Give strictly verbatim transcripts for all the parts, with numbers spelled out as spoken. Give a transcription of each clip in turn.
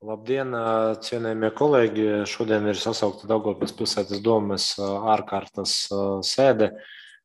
Labdien, cienējamie kolēģi! Šodien ir sasaukta Daugavpils pilsētas domes ārkārtas sēde.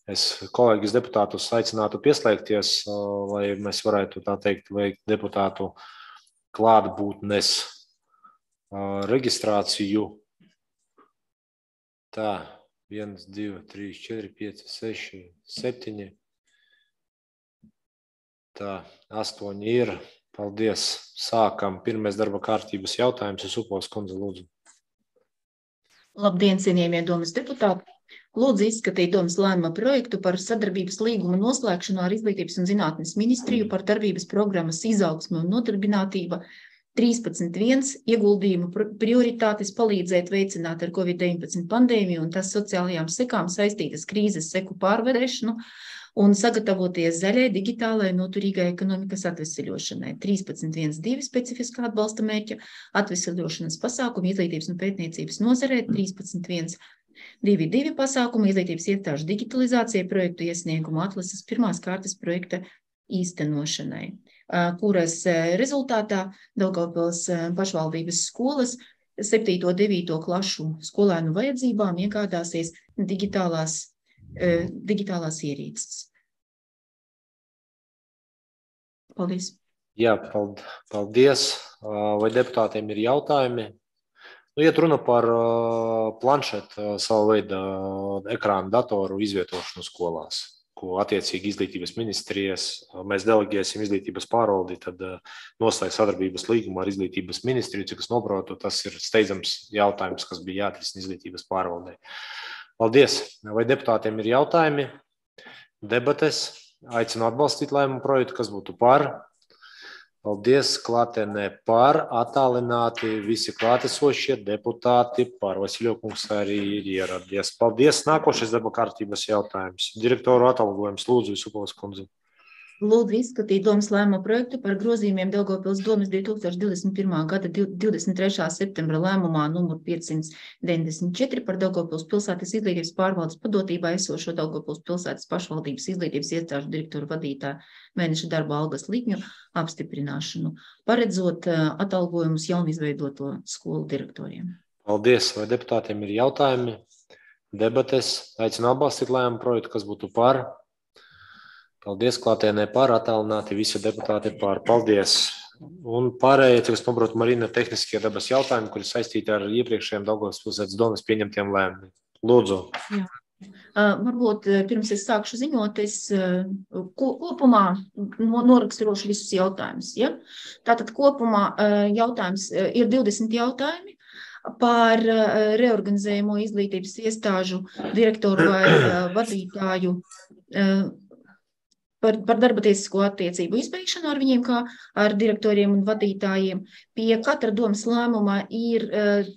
Es kolēģis deputātus aicinātu pieslēgties, lai mēs varētu, tā teikt, veikt deputātu klātbūtnes reģistrāciju. Tā, viens, divi, trīs, četri, pieci, seši, septiņi. Tā, astoņi ir. Paldies. Sākam. Pirmais darba kārtības jautājums. Supovs kundze, lūdzu. Labdien, cienījamie domes deputāti. Lūdzu izskatīt domes lēmuma projektu par sadarbības līguma noslēgšanu ar Izglītības un zinātnes ministriju par darbības programmas izaugsmi un nodarbinātība trīspadsmit viens ieguldījumu prioritātes palīdzēt veicināt ar covid deviņpadsmit pandēmiju un tas sociālajām sekām saistītas krīzes seku pārvarēšanu un sagatavoties zaļai, digitālai, noturīgai ekonomikas atveseļošanai. trīspadsmit viens divi specifiskā atbalsta mērķa atveseļošanas pasākumu izglītības un pētniecības nozarē, trīspadsmit viens divi divi pasākumu izglītības iestāžu digitalizācijai, projektu iesniegumu atlases pirmās kārtas projekta īstenošanai, kuras rezultātā Daugavpils pašvaldības skolas septīto devīto klašu skolēnu vajadzībām iegādāsies digitālās digitālās ierīces. Paldies. Jā, paldies. Vai deputātiem ir jautājumi? Nu, iet runa par planšetu savu veidu ekrānu datoru izvietošanu skolās, ko attiecīgi izglītības ministrijas mēs delegēsim izglītības pārvaldi, tad noslēgt sadarbības līgumu ar izglītības ministriju, cik es noprotu, tas ir steidzams jautājums, kas bija jāatrisina izglītības pārvaldē. Paldies! Vai deputātiem ir jautājumi? Debates. Aicinu atbalstīt lēmumu projektu, kas būtu par. Paldies! Klātienē par. Attālināti visi klātesošie deputāti par. Vasiljokungs arī ir ieradies. Paldies! Nākošais darba kārtības jautājums. Direktoru atalgojums. Lūdzu, Supovs kundze. Lūdzu izskatīt domes lēmuma projektu par grozījumiem Daugavpils domes divi tūkstoši divdesmit pirmā gada divdesmit trešā septembra lēmumā numur piecsimt deviņdesmit četri par Daugavpils pilsētas izglītības pārvaldes padotībā esošo Daugavpils pilsētas pašvaldības izglītības iestāžu direktoru vadītāju mēneša darba algas likmju apstiprināšanu, paredzot atalgojumus jaunizveidoto skolu direktoriem. Paldies! Vai deputātiem ir jautājumi? Debates. Aicinu atbalstīt lēmumu projektu, kas būtu par. Paldies, klātienē par, attālināti visi deputāti par. Paldies. Un pārējie, cik es saprotu, Marina, tehniskie dabas jautājumi, kuri saistīti ar iepriekšējiem Daugavpils pilsētas domes pieņemtiem lēmumiem. Lūdzu. Jā. Uh, varbūt pirms es sākšu ziņot, es uh, kopumā noraksturošu visus jautājumus. Ja? Tātad kopumā uh, jautājums uh, ir divdesmit jautājumi par uh, reorganizējumu izglītības iestāžu direktoru vai uh, vadītāju uh, Par, par darba tiesisko attiecību izbeigšanu ar viņiem, kā ar direktoriem un vadītājiem. Pie katra domes lēmuma ir uh,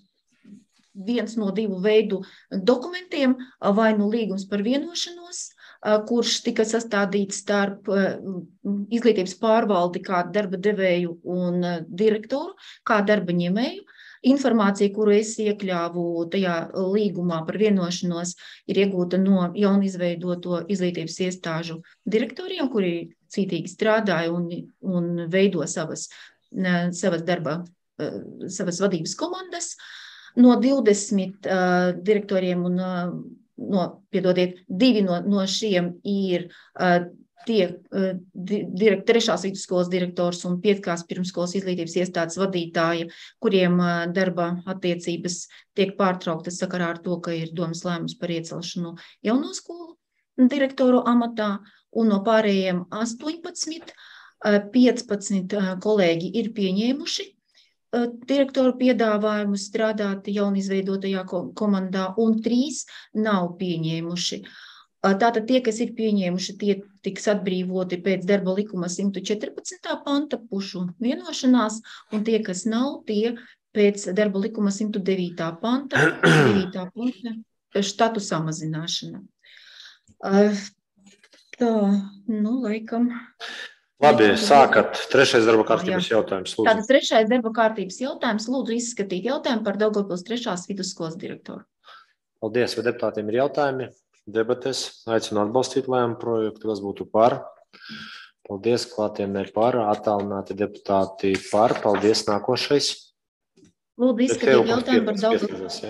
viens no divu veidu dokumentiem, vai nu līgums par vienošanos, uh, kurš tika sastādīts starp uh, izglītības pārvaldi kā darba devēju un uh, direktoru, kā darba ņēmēju. Informācija, kuru es iekļāvu tajā līgumā par vienošanos, ir iegūta no jaunizveidoto izglītības iestāžu direktoriem, kuri cītīgi strādāja un, un veido savas, savas darba, savas vadības komandas. No divdesmit uh, direktoriem un, uh, no, piedodiet, divi no, no šiem ir uh, tie direkt, trešās vidusskolas direktors un pietkās pirmskolas izglītības iestādes vadītāji, kuriem darba attiecības tiek pārtrauktas sakarā ar to, ka ir domes lēmums par iecelšanu jauno skolu direktoru amatā, un no pārējiem astoņpadsmit, piecpadsmit kolēģi ir pieņēmuši direktoru piedāvājumu strādāt jaunizveidotajā komandā, un trīs nav pieņēmuši. Tātad tie, kas ir pieņēmuši, tie tiks atbrīvoti pēc darba likuma simt četrpadsmitā panta pušu vienošanās, un tie, kas nav, tie pēc darba likuma simt devītā panta, devītā panta štatu samazināšana. Tā, nu, laikam. Labi, sākat. Trešais darba kārtības jautājums. Lūdzu. Tātad trešais darba kārtības jautājums. Lūdzu izskatīt jautājumu par Daugavpils trešās vidusskolas direktoru. Paldies, vai deputātiem ir jautājumi? Debates. Aicinu atbalstīt lēmumu projektu, kas būtu par. Paldies, klātienē par. Attālināti deputāti par. Paldies, nākošais. Lūdzu izskatīt jautājumu par Daugavpils.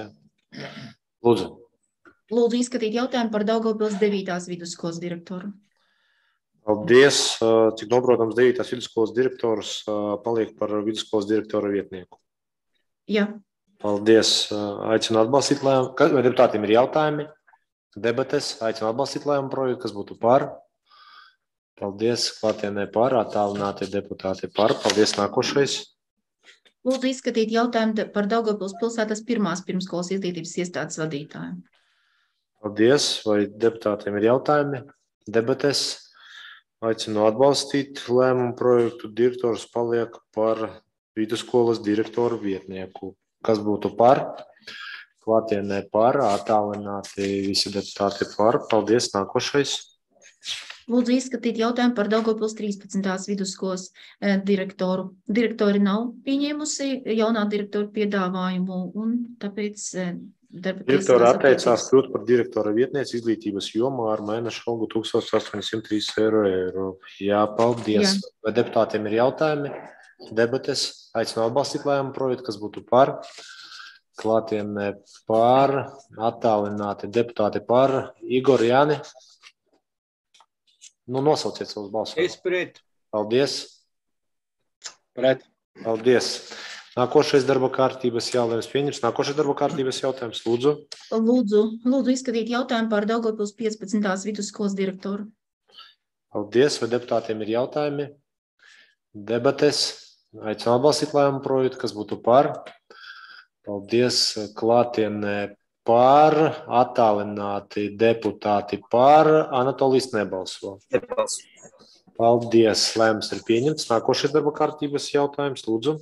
Lūdzu. Lūdzu izskatīt jautājumu par Daugavpils devītās vidusskolas direktoru. Paldies. Cik noprotams, devītās vidusskolas direktors paliek par vidusskolas direktora vietnieku. Jā. Paldies. Aicinu atbalstīt lēmumu. Vai deputātiem ir jautājumi? Debates. Aicinu atbalstīt lēmumu projektu, kas būtu par. Paldies. Klātienē par. Attālinātie deputāti par. Paldies. Nākošais. Lūdzu izskatīt jautājumu par Daugavpils pilsētas pirmās pirmskolas izglītības iestādes vadītāju. Paldies. Vai deputātiem ir jautājumi? Debates. Aicinu atbalstīt lēmumu projektu. Direktors paliek par vidusskolas direktoru vietnieku. Kas būtu par? Klātienē par. Attālināti visi deputāti par. Paldies. Nākošais. Lūdzu izskatīt jautājumu par Daugavpils trīspadsmitās vidusskolas direktoru. Direktori nav pieņēmusi jaunā direktora piedāvājumu, un tāpēc darba tiesās Direktora atteicās kļūt par direktora vietnieci izglītības jomā ar mēneša algu tūkstoš astoņsimt trīs eiro. Jā, paldies. Jā. Vai deputātiem ir jautājumi? Debates. Aicinu atbalstīt lēmumu projektu, kas būtu par. Klātienē par. Attālināti deputāti par. Igor, Jāni. Nu, nosauciet savus balsus. Es pret. Paldies. Pret. Paldies. Nākošais darba kārtības jautājums pieņems. Nākošais darba kārtības jautājums. Lūdzu. Lūdzu, lūdzu izskatīt jautājumu par Daugavpils piecpadsmitās vidusskolas direktoru. Paldies. Vai deputātiem ir jautājumi? Debates. Aicinu atbalstīt lēmumu projektu, kas būtu par. Paldies. Klātienē par, attālināti deputāti par. Anatolijas nebalso. Nebalso. Paldies. Lēmums ir pieņemts. Nākošais darba kārtības jautājums. Lūdzu.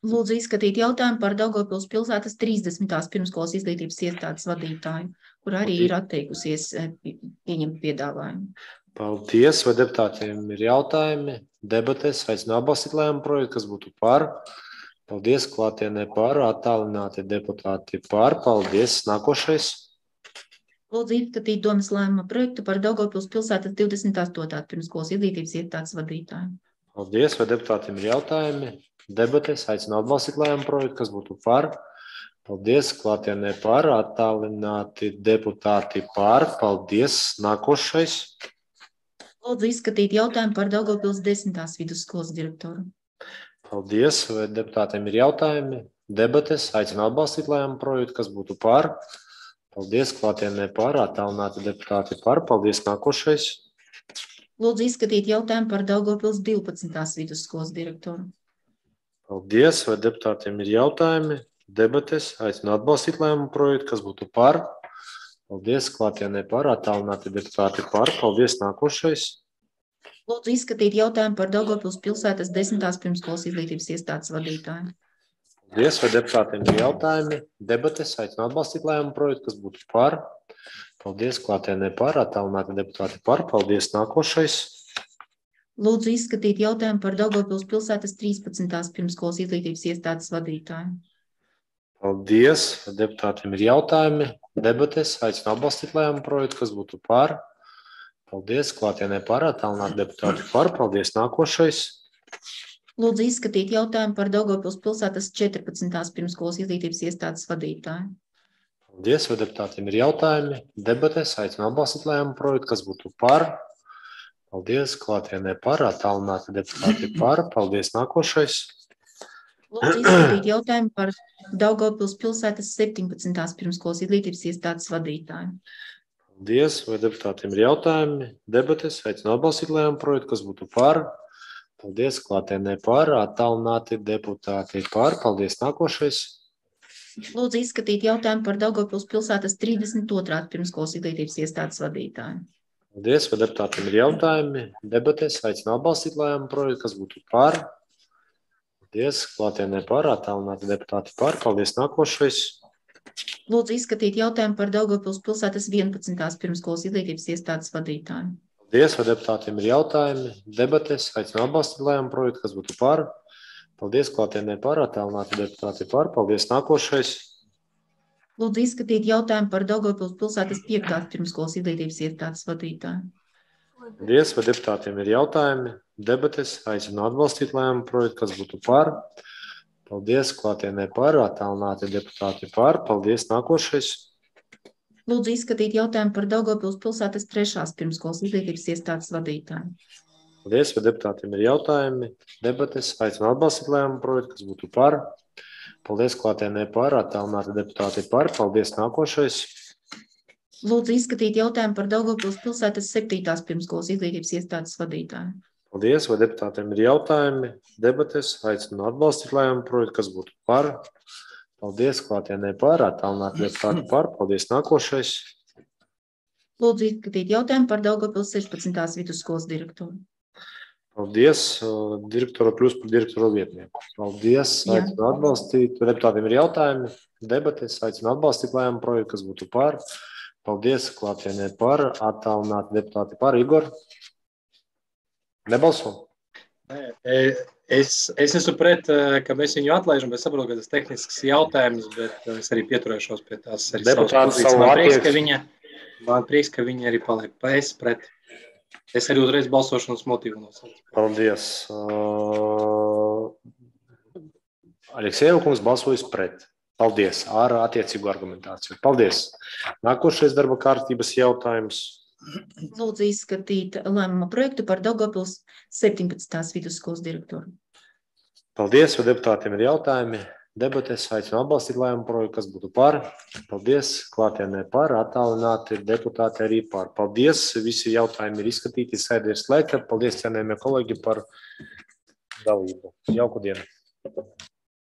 Lūdzu izskatīt jautājumu par Daugavpils pilsētas trīsdesmitās pirmskolas izglītības iestādes vadītāju, kur arī ir atteikusies pieņemt piedāvājumu. Paldies. Vai deputātiem ir jautājumi? Debates. Aicinu atbalstīt lēmumu projektu, kas būtu par. Paldies. Klātienē par. Attālināti deputāti par. Paldies. Nākošais. Lūdzu izskatīt domas lēmuma projektu par Daugavpils pilsētas divdesmit astotās pirmskolas izglītības iestādes vadītāju. Paldies. Vai deputātiem ir jautājumi? Debates. Aicinu atbalstīt lēmumu projektu, kas būtu par. Paldies. Klātienē par. Attālināti deputāti par. Paldies. Nākošais. Lūdzu izskatīt jautājumu par Daugavpils desmitās vidusskolas direktoru. Paldies. Vai deputātiem ir jautājumi? Debates. Aicinu atbalstīt lēmumu projektu, kas būtu par. Paldies. Klātienē par. Attālināti deputāti par. Paldies. Nākošais. Lūdzu izskatīt jautājumu par Daugavpils divpadsmitās vidusskolas direktoru. Paldies. Vai deputātiem ir jautājumi? Debates. Aicinu atbalstīt lēmumu projektu, kas būtu par. Paldies. Klātienē par. Attālināti deputāti par. Paldies. Nākošais. Lūdzu izskatīt jautājumu par Daugavpils pilsētas desmitās pirmskolas izglītības iestādes vadītāju. Paldies. Vai deputātiem ir jautājumi? Debates. Aicinu atbalstīt lēmumu projektu, kas būtu par. Paldies. Klātienē par. Attālināti deputāti par. Paldies. Nākošais. Lūdzu izskatīt jautājumu par Daugavpils pilsētas trīspadsmitās pirmskolas izglītības iestādes vadītāju. Paldies. Vai deputātiem ir jautājumi? Debates. Aicinu atbalstīt lēmumu projektu, kas būtu par. Paldies. Klātienē par. Attālināti deputāti par. Paldies. Nākošais. Lūdzu izskatīt jautājumu par Daugavpils pilsētas četrpadsmitās pirmskolas izglītības iestādes vadītāju. Paldies. Vai deputātiem ir jautājumi? Debates. Aicinu atbalstīt lēmumu projektu, kas būtu par. Paldies. Klātienē par. Attālināti deputāti par. Paldies. Nākošais. Lūdzu izskatīt jautājumu par Daugavpils pilsētas septiņpadsmitās pirmskolas izglītības iestādes vadītāju. Paldies. Vai deputātiem ir jautājumi? Debates. Aicinu atbalstīt lēmumu projektu, kas būtu par. Paldies. Klātienē par. Attālināti deputāti par. Paldies. Nākošais. Lūdzu izskatīt jautājumu par Daugavpils pilsētas trīsdesmit otrās pirmskolas izglītības iestādes vadītāju. Paldies. Vai deputātiem ir jautājumi? Debates. Aicinu atbalstīt lēmumu projektu, kas būtu par. Paldies. Klātienē par. Attālināti deputāti par. Paldies. Nākošais. Lūdzu izskatīt jautājumu par Daugavpils pilsētas vienpadsmitās pirmskolas izglītības iestādes vadītāju. Paldies. Vai deputātiem ir jautājumi? Debates. Aicinu atbalstīt lēmumu projektu, kas būtu par. Paldies. Klātienē par. Attālināti deputāti par. Paldies. Nākošais. Lūdzu izskatīt jautājumu par Daugavpils pilsētas piektās pirmskolas izglītības iestādes vadītāju. Paldies. Vai deputātiem ir jautājumi? Debates. Aicinu atbalstīt lēmumu projektu, kas būtu par. Paldies, klātienē par, attālināti deputāti par. Paldies, nākošais. Lūdzu izskatīt jautājumu par Daugavpils pilsētas trešās pirmskolas izglītības iestādes vadītāju. Paldies, vai deputātiem ir jautājumi, debates, aicinu atbalstīt lēmumu projektu, kas būtu par. Paldies, klātienē par, attālināti deputāti par. Paldies, nākošais. Lūdzu izskatīt jautājumu par Daugavpils pilsētas septītās pirmskolas izglītības iestādes vadītāju. Paldies, vai deputātiem ir jautājumi, debates, aicinu atbalstīt lēmumu projektu, kas būtu par. Paldies, klātienē par, attālināti deputāti par. Paldies, nākošais. Lūdzu izskatīt jautājumu par Daugavpils sešpadsmitās vidusskolas direktoru. Paldies, direktora kļūst par direktora vietnieku. Paldies, aicinu atbalstīt. Deputātiem ir jautājumi, debates, aicinu atbalstīt lēmumu projektu, kas būtu par. Paldies, klātienē par, attālināti deputāti par. Igor? Nebalso? Es, es esmu pret, ka mēs viņu atlaižam, bet saprotu, ka tas tehnisks jautājums, bet es arī pieturēšos pie tās arī savas pozīcijas. Man prieks, ka viņa, man prieks, ka viņa arī paliek. Es pret. Es arī uzreiz balsošanas motīvu nosaucu. Paldies. Uh, Aleksejeva kungs balsojas pret. Paldies, ar attiecīgu argumentāciju. Paldies. Nākošais darba kārtības jautājums. Lūdzu izskatīt lēmuma projektu par Daugavpils septiņpadsmitās vidusskolas direktoru. Paldies, vai deputātiem ir jautājumi, debates, aicinu atbalstīt lēmumu projektu, kas būtu par. Paldies, klātienē par, attālināti deputāti arī par. Paldies, visi jautājumi ir izskatīti, sēde ir slēgta. Paldies, cienējamie kolēģi, par dalību. Jauku dienu.